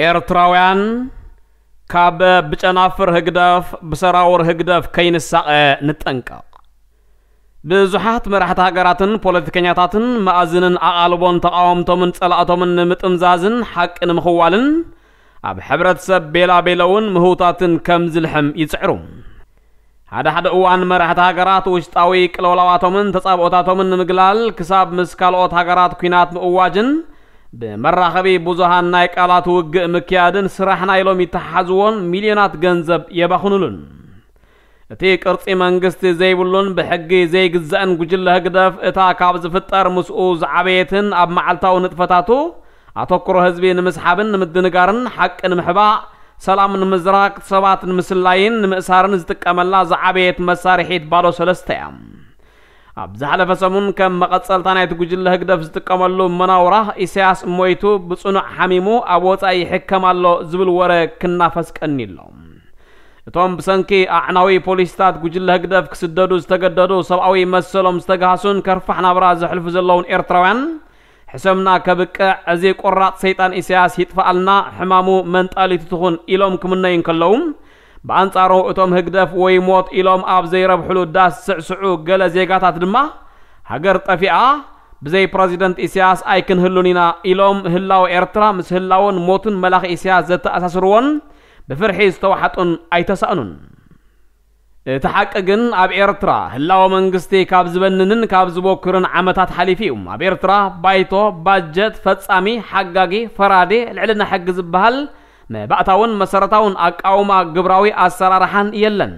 ኤርትራውያን ካብ ብጨናፍር ህግደፍ ብሰራውር ህግደፍ ከይንሳቐ ንጠንቀቕ። ብዙሓት መራሕቲ ሃገራትን ፖለቲከኛታትን መኣዝንን ኣቓልቦን ተቓወምቶምን ጸላእቶምን ንምጥምዛዝን ሓቂ ንምኽዋልን ኣብ ሕብረተሰብ ቤላቤለውን ምህውታትን ከም ዝልሕም ይጽዕሩ። ሓደ ሓደ እዋን መራሕቲ ሃገራት ውሽጣዊ ቅልውላዋቶምን ተጻብኦታቶምን ንምግላል ክሳብ ምስ ካልኦት ሃገራት ኲናት ምእዋጅን ብመራኸቢ ብዙሃን ናይ ቃላት ውግእ ምክያድን ስራሕና ኢሎም ይተሓሓዝዎን ሚልዮናት ገንዘብ የባኽኑሉን። እቲ ቅርጺ መንግስቲ ዘይብሉን ብሕጊ ዘይግዛእን ጉጅለ ህግደፍ እታ ካብ ዝፍጠር ምስኡ ዝዓበየትን ኣብ መዓልታዊ ንጥፈታቱ ኣተኩሮ ህዝቢ ንምስሓብን ንምድንጋርን ሓቂ ንምሕባእ ሰላም ንምዝራግ ሰባት ንምስላይን ንምእሳርን ዝጥቀመላ ዝዓበየት መሳርሒት ባዶ ሰለስተ እያ። ኣብ ዝሓለፈ ሰሙን ከም መቐጸልታ ናይቲ ጉጅለ ህግደፍ ዝጥቀመሉ መናውራ ኢሳያስ ሞይቱ ብጽኑዕ ሓሚሙ ኣብ ወጻኢ ይሕከም ኣሎ ዝብል ወረ ክናፈስ ቀኒሎ። እቶም ብሰንኪ ኣዕናዊ ፖሊሲታት ጉጅለ ህግደፍ ክስደዱ ዝተገደዱ ሰብኣዊ መሰሎም ዝተጋህሱን ከርፋሕ ናብራ ዘሕልፉ ዘለውን ኤርትራውያን ሕሰምና ከብቅዕ እዚ ቆራጽ ሰይጣን ኢሳያስ ይጥፋኣልና ሕማሙ መንጣሊቱ ትኹን ኢሎም ክምነዩ እንከለዉ ብኣንጻሩ እቶም ህግደፍ ወይ ሞት ኢሎም ኣብ ዘይረብሕሉ ዳስ ስዕስዑ ገለ ዜጋታት ድማ ሃገር ጠፊኣ ብዘይ ፕረዚደንት ኢሳያስ ኣይክንህሉን ኢና ኢሎም ህላወ ኤርትራ ምስ ህላወን ሞትን መላኺ ኢሳያስ ዘተኣሳስርዎን ብፍርሒ ዝተዋሓጡን ኣይተሳእኑን። እቲ ሓቂ ግን ኣብ ኤርትራ ህላወ መንግስቲ ካብ ዝበንንን ካብ ዝበኩርን ዓመታት ሓሊፉ እዩ። ኣብ ኤርትራ ባይቶ፣ ባጀት፣ ፈጻሚ፣ ሓጋጊ፣ ፈራዲ፣ ልዕልና ሕጊ ዝበሃል መባእታውን መሰረታውን ኣቃውማ ግብራዊ ኣሰራርሓን የለን።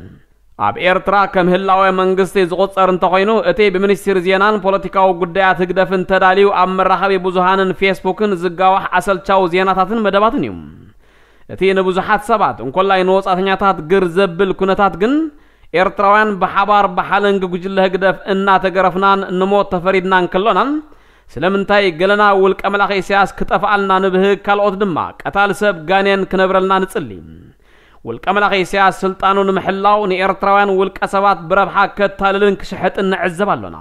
ኣብ ኤርትራ ከም ህላወ መንግስቲ ዝቑጸር እንተኾይኑ እቲ ብሚኒስትሪ ዜናን ፖለቲካዊ ጉዳያት ህግደፍን ተዳልዩ ኣብ መራኸቢ ብዙሃንን ፌስቡክን ዝጋዋሕ ኣሰልቻዊ ዜናታትን መደባትን እዩ። እቲ ንብዙሓት ሰባት እንኮላይ ንወጻእተኛታት ግር ዘብል ኩነታት ግን ኤርትራውያን ብሓባር ብሓለንጊ ጉጅለ ህግደፍ እናተገረፍናን ንሞት ተፈሪድናን ከሎናን ስለምንታይ ገለና ውልቀ መላኺ ኢሳያስ ክጠፍኣልና ንብህግ ካልኦት ድማ ቀታሊ ሰብ ጋኔን ክነብረልና ንጽሊ። ውልቀ መላኺ ኢሳያስ ስልጣኑ ንምሕላው ንኤርትራውያን ውልቀ ሰባት ብረብሓ ከታልልን ክሽሕጥን ንዕዘብ ኣሎና።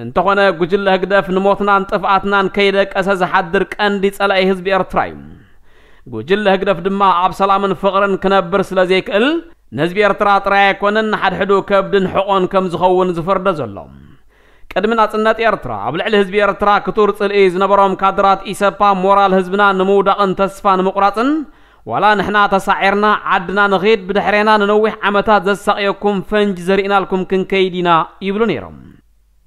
እንተኾነ ጉጅለ ህግደፍ ንሞትናን ጥፍኣትናን ከይደቀሰ ዝሓድር ቀንዲ ጸላኢ ህዝቢ ኤርትራ እዩ። ጉጅለ ህግደፍ ድማ ኣብ ሰላምን ፍቕርን ክነብር ስለ ዘይክእል ንህዝቢ ኤርትራ ጥራይ ኣይኮነን ንሓድሕዱ ከብድን ሕቖን ከም ዝኸውን ዝፈርዶ ዘሎ። ቅድሚ ናጽነት ኤርትራ ኣብ ልዕሊ ህዝቢ ኤርትራ ክቱር ጽልኢ ዝነበሮም ካድራት ኢሰፓ ሞራል ህዝብና ንምውዳቕን ተስፋ ንምቑራጽን ዋላ ንሕና ተሳዒርና ዓድና ንኺድ ብድሕሬና ንነዊሕ ዓመታት ዘሳቕየኩም ፈንጂ ዘሪእናልኩም ክንከይድ ኢና ይብሉ ነይሮም።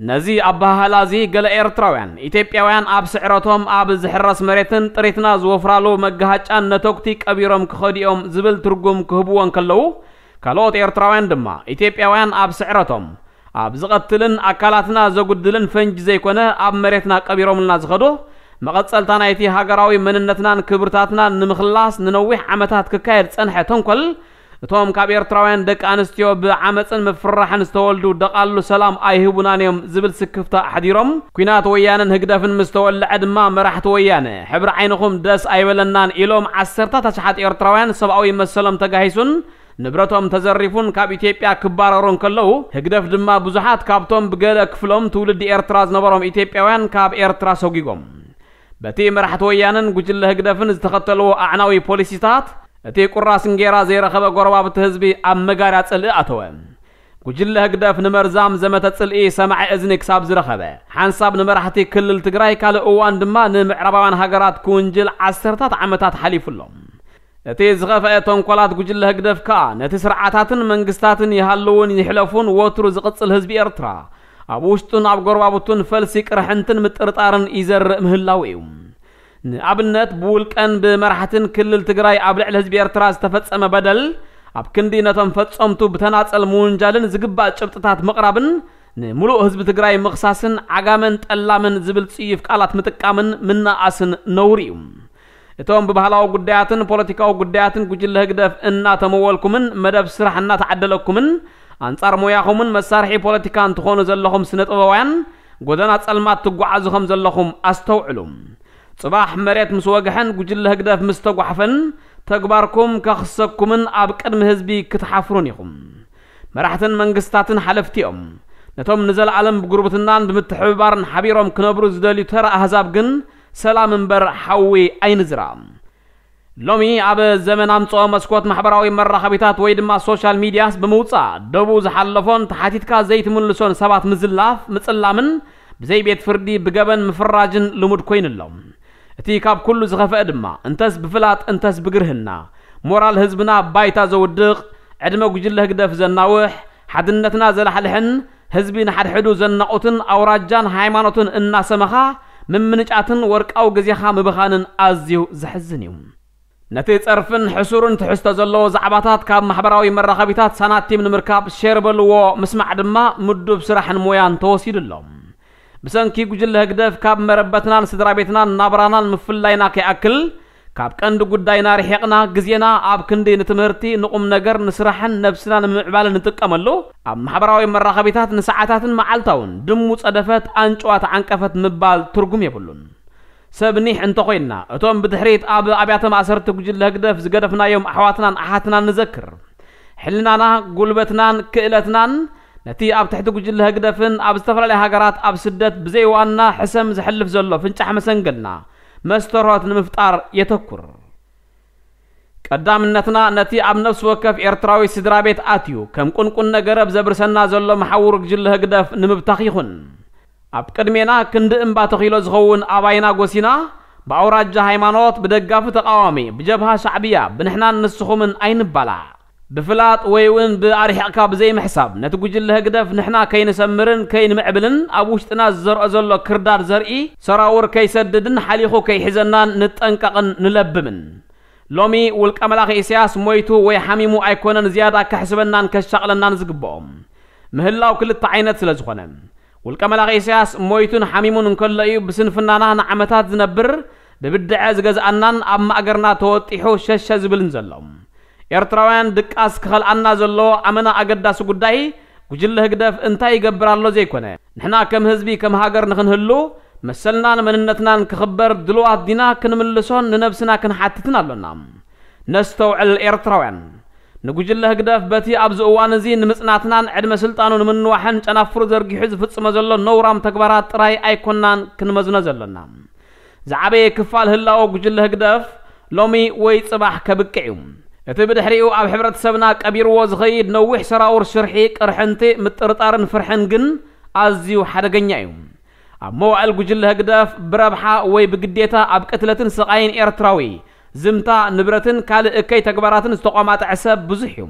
ነዚ ኣበሃህላ እዚ ገለ ኤርትራውያን ኢትዮጵያውያን ኣብ ስዕረቶም ኣብ ዝሕረስ መሬትን ጥሪትና ዝወፍራሉ መጋሃጫን ነተኩቲ ቀቢሮም ክኸዱ እዮም ዝብል ትርጉም ክህብዎ እንከለዉ ካልኦት ኤርትራውያን ድማ ኢትዮጵያውያን ኣብ ስዕረቶም ኣብ ዝቐትልን ኣካላትና ዘጉድልን ፈንጂ ዘይኮነ ኣብ መሬትና ቀቢሮምልና ዝኸዱ መቐጸልታ ናይቲ ሃገራዊ መንነትናን ክብርታትናን ንምኽላስ ንነዊሕ ዓመታት ክካየድ ጸንሐ ተንኮል እቶም ካብ ኤርትራውያን ደቂ ኣንስትዮ ብዓመጽን ምፍርራሕን ዝተወልዱ ደቓሉ ሰላም ኣይህቡናን እዮም ዝብል ስክፍታ ኣሕዲሮም ኲናት ወያነን ህግደፍን ምስ ተወልዐ ድማ መራሕቲ ወያነ ሕብሪ ዓይንኹም ደስ ኣይበለናን ኢሎም ዓሰርታት ኣሽሓት ኤርትራውያን ሰብኣዊ መሰሎም ተጋሂሱን ንብረቶም ተዘሪፉን ካብ ኢትዮጵያ ክባረሩ እንከለዉ ህግደፍ ድማ ብዙሓት ካብቶም ብገለ ክፍሎም ትውልዲ ኤርትራ ዝነበሮም ኢትዮጵያውያን ካብ ኤርትራ ሰጒጎም። በቲ መራሕቲ ወያነን ጉጅለ ህግደፍን ዝተኸተልዎ ኣዕናዊ ፖሊሲታት እቲ ቁራስ እንጌራ ዘይረኸበ ጎረባብቲ ህዝቢ ኣብ መጋርያ ጽልኢ ኣተወ። ጉጅለ ህግደፍ ንመርዛም ዘመተ ጽልኢ ሰማዒ እዝኒ ክሳብ ዝረኸበ ሓንሳብ ንመራሕቲ ክልል ትግራይ ካልእ እዋን ድማ ንምዕራባውያን ሃገራት ክውንጅል ዓሰርታት ዓመታት ሓሊፉ ኣሎ። እቲ ዝኸፍአ ተንኮላት ጉጅለ ህግደፍ ከኣ ነቲ ስርዓታትን መንግስታትን ይሃልውን ይሕለፉን ወትሩ ዝቕጽል ህዝቢ ኤርትራ ኣብ ውሽጡን ኣብ ጎረባብቱን ፈልሲ ቅርሕንትን ምጥርጣርን ይዘርእ ምህላው እዩ። ንኣብነት ብውልቀን ብመራሕትን ክልል ትግራይ ኣብ ልዕሊ ህዝቢ ኤርትራ ዝተፈጸመ በደል ኣብ ክንዲ ነቶም ፈጸምቱ ብተናጸል ምውንጃልን ዝግባእ ጭብጥታት ምቕራብን ንምሉእ ህዝቢ ትግራይ ምኽሳስን ዓጋመን ጠላምን ዝብል ጽዩፍ ቃላት ምጥቃምን ምናኣስን ነውሪ እዩ። እቶም ብባህላዊ ጉዳያትን ፖለቲካዊ ጉዳያትን ጉጅለ ህግደፍ እናተመወልኩምን መደብ ስራሕ እናተዓደለኩምን ኣንጻር ሞያኹምን መሳርሒ ፖለቲካን ትኾኑ ዘለኹም ስነ ጥበባውያን ጎደና ጸልማት ትጓዓዙ ከም ዘለኹም ኣስተውዕሉ። ጽባሕ መሬት ምስ ወግሐን ጉጅለ ህግደፍ ምስ ተጓሕፈን ተግባርኩም ከኽሰኩምን ኣብ ቅድሚ ህዝቢ ክትሓፍሩን ኢኹም። መራሕትን መንግስታትን ሓለፍቲ እዮም። ነቶም ንዘለኣለም ብጉርብትናን ብምትሕብባርን ሓቢሮም ክነብሩ ዝደልዩ ተራ ኣህዛብ ግን ሰላም እምበር ሓዊ ኣይንዝራ። ሎሚ ኣብ ዘመን ኣምጽኦ መስኮት ማሕበራዊ መራኸቢታት ወይ ድማ ሶሻል ሚድያስ ብምውጻእ ደቡ ዝሓለፎን ተሓቲትካ ዘይትምልሶን ሰባት ምዝላፍ፣ ምጽላምን ብዘይ ቤት ፍርዲ ብገበን ምፍራጅን ልሙድ ኮይኑ ኣሎ። እቲ ካብ ኩሉ ዝኸፍአ ድማ እንተስ ብፍላጥ እንተስ ብግርህና ሞራል ህዝብና ባይታ ዘውድቕ፣ ዕድመ ጉጅለ ህግደፍ ዘናውሕ፣ ሓድነትና ዘላሕልሕን ህዝቢ ንሓድሕዱ ዘናቑትን ኣውራጃን ሃይማኖትን እናሰመኻ ምምንጫትን ወርቃዊ ግዜኻ ምብኻንን ኣዝዩ ዘሕዝን እዩ። ነቲ ጸርፍን ሕሱርን ትሕዝቶ ዘለዎ ዛዕባታት ካብ ማሕበራዊ መራኸቢታት ሳናቲም ንምርካብ ሼር በልዎ፣ ምስማዕ ድማ ምዱብ ስራሕን ሞያን ተወሲዱ ኣሎ። ብሰንኪ ጉጅለ ህግደፍ ካብ መረበትናን ስድራ ቤትናን ናብራናን ምፍላይና ከይኣክል፣ ካብ ቀንዲ ጉዳይና ርሒቕና ግዜና ኣብ ክንዲ ንትምህርቲ፣ ንቁም ነገር፣ ንስራሕን ነብስና ንምምዕባልን ንጥቀመሉ፣ ኣብ ማሕበራዊ መራኸቢታት ንሰዓታትን መዓልታውን ድሙ ጸደፈት፣ ኣንጭዋ ተዓንቀፈት ምባል ትርጉም የብሉን። ሰብ ኒሕ እንተኾይንና፣ እቶም ብድሕሪት ኣብ ኣብያተ ማእሰርቲ ጉጅለ ህግደፍ ዝገደፍናዮም ኣሕዋትናን ኣሓትናን ንዘክር። ሕልናና፣ ጉልበትናን ክእለትናን ነቲ ኣብ ትሕቲ ጉጅለ ህግደፍን ኣብ ዝተፈላለያ ሃገራት ኣብ ስደት ብዘይ ዋና ሕሰም ዘሕልፍ ዘሎ ፍንጫሕ መሰንገልና መስተርሆት ንምፍጣር የተኩር። ቀዳምነትና ነቲ ኣብ ነፍሲ ወከፍ ኤርትራዊ ስድራ ቤት ኣትዩ ከም ቁንቁን ነገረብ ዘብርሰና ዘሎ መሓውር ጉጅለ ህግደፍ ንምብታኽ ይኹን። ኣብ ቅድሜና ክንዲ እምባ ተኺሎ ዝኸውን ኣባይና ጎሲና፣ ብኣውራጃ ሃይማኖት፣ ብደጋፊ ተቃዋሚ፣ ብጀብሃ ሻዕብያ፣ ብንሕናን ንስኹምን ኣይንባላዕ። ብፍላጥ ወይ እውን ብኣርሒቕካ ብዘይምሕሳብ ነቲ ጉጅለ ህግደፍ ንሕና ከይንሰምርን ከይንምዕብልን ኣብ ውሽጥና ዝዘርኦ ዘሎ ክርዳድ ዘርኢ ሰራውር ከይሰድድን ሓሊኹ ከይሕዘናን ንጠንቀቕን ንለብምን። ሎሚ ውልቀ መላኺ ኢሳያስ ሞይቱ ወይ ሓሚሙ ኣይኮነን ዝያዳ ከሕስበናን ከሻቕለናን ዝግብኦ። ምህላው ክልተ ዓይነት ስለ ዝኾነ፣ ውልቀ መላኺ ኢሳያስ ሞይቱን ሓሚሙን እንከሎ እዩ ብስንፍናና ንዓመታት ዝነብር፣ ብብድዐ ዝገዝኣናን ኣብ ማእገርና ተወጢሑ ሸሸ ዝብልን ዘሎ። ኤርትራውያን ድቃስ ክኸልኣና ዘለዎ ኣመና ኣገዳሲ ጉዳይ፣ ጉጅለ ህግደፍ እንታይ ይገብር ኣሎ ዘይኮነ፣ ንሕና ከም ህዝቢ ከም ሃገር ንኽንህሉ፣ መሰልናን መንነትናን ክኽበር ድልዋት ዲና ክንምልሶን ንነብስና ክንሓትትን ኣሎና። ነስተውዕል ኤርትራውያን። ንጉጅለ ህግደፍ በቲ ኣብዚ እዋን እዚ ንምጽናትናን ዕድመ ስልጣኑ ንምንዋሕን ጨናፍሩ ዘርጊሑ ዝፍጽሞ ዘሎ ነውራም ተግባራት ጥራይ ኣይኮናን ክንመዝኖ ዘሎና። ዝዓበየ ክፋል ህላወ ጉጅለ ህግደፍ ሎሚ ወይ ጽባሕ ከብቅዕ እዩ። እቲ ብድሕሪኡ ኣብ ሕብረተሰብና ቀቢርዎ ዝኸይድ ነዊሕ ሰራውር ሽርሒ፣ ቅርሕንቲ፣ ምጥርጣርን ፍርሕን ግን ኣዝዩ ሓደገኛ እዩ። ኣብ መዋእል ጉጅለ ህግደፍ ብረብሓ ወይ ብግዴታ ኣብ ቅትለትን ስቓይን ኤርትራዊ፣ ዝምታ፣ ንብረትን ካልእ እከይ ተግባራትን ዝተቋማጠዐ ሰብ ብዙሕ እዩ።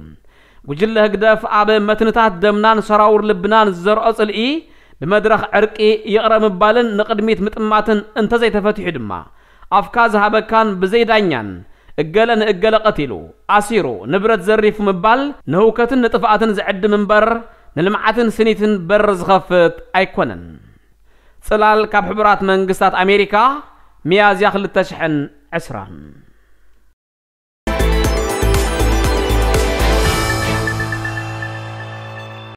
ጉጅለ ህግደፍ ኣብ መትንታት ደምናን ሰራውር ልብናን ዝዘርኦ ጽልኢ፣ ብመድረኽ ዕርቂ፣ ይቕረ ምባልን ንቕድሚት ምጥማትን እንተዘይተፈቲሑ ድማ፣ ኣፍካ ዝሃበካን ብዘይ ዳኛን፣ እገለ ንእገለ ቀቲሉ፣ ኣሲሩ፣ ንብረት ዘሪፉ ምባል ንህውከትን ንጥፍኣትን ዝዕድም እምበር፣ ንልምዓትን ስኒትን በር ዝኸፍት ኣይኮነን። ጽላል ካብ ሕቡራት መንግስታት ኣሜሪካ፣ ሚያዝያ ክልተ ሽሕን ዕስራን።